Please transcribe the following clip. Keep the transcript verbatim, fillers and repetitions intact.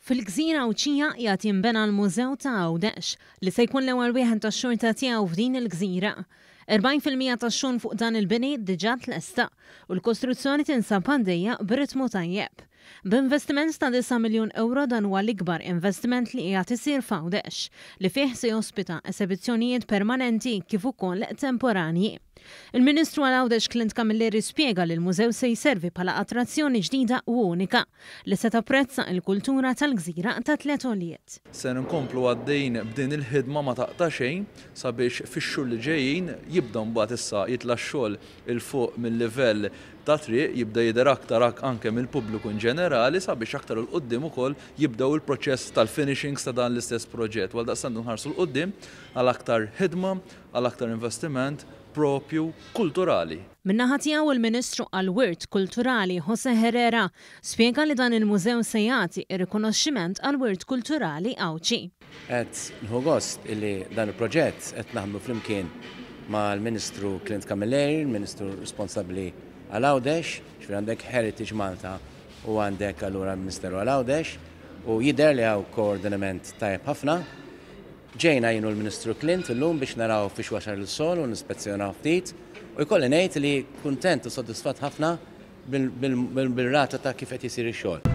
Fil-gżira Għawdxija qiegħed jinbena l-Mużew ta' Għawdex li se jkun l-ewwel wieħed tax-xorta tiegħu f'din il-gżira. erbgħin fil-mija tax-xogħol fuq dan il-bini diġà tlesta u l-kostruzzjoni tinsab għaddejja b'ritmu tajjeb. B'investiment ta' disa' miljun euro, dan huwa l-ikbar investiment li qiegħed isir f'Għawdex, li fih se jospita esebizzjonijiet permanenti kif ukoll temporanji. Il-Ministru għal Għawdex Clint Camilleri spjega li l-mużew se jservi bħala attrazzjoni ġdida u unika li se tapprezza il-kultura tal-gżira ta' tliet għoljiet. Se nkomplu għaddejn b'din il-ħidma ma taqta' xejn sabiex fix-xhur li ġejjin jibda mbagħad issa jitla' x-xogħol 'il fuq mill-livell ta' triq, jibda jidher aktar anke mill-pubbliku in ġenerali, sabiex aktar 'il quddiem ukoll jibdew il-proċess tal-finishings ta' dan l-istess proġett. Għal daqstant nħarsu 'l quddiem għal aktar ħidma, għal aktar investiment propju kulturali. Min-naħa tiegħu, il-Ministru għal-Wirt Kulturali Jose Herrera spjega li dan il-mużew se jagħti ir-rikonoxximent għal-wirt kulturali Għawdxi. Qed nieħu gost illi dan il-proġett qed naħdmu flimkien mal-Ministru Clint Camilleri, il-Ministru responsabbli għal Għawdex, ġifieri għandek Heritage Malta u għandek allura l-Ministeru għal Għawdex, u jidher li hawn koordinament tajjeb ħafna. Ġejna jien u l-Ministru Clint illum biex naraw fiex wasal ix-xogħol u nispezzjonaw ftit u jkolli ngħid li kuntent u soddisfatt ħafna bil-rata ta' kif qed isir ix-xogħol.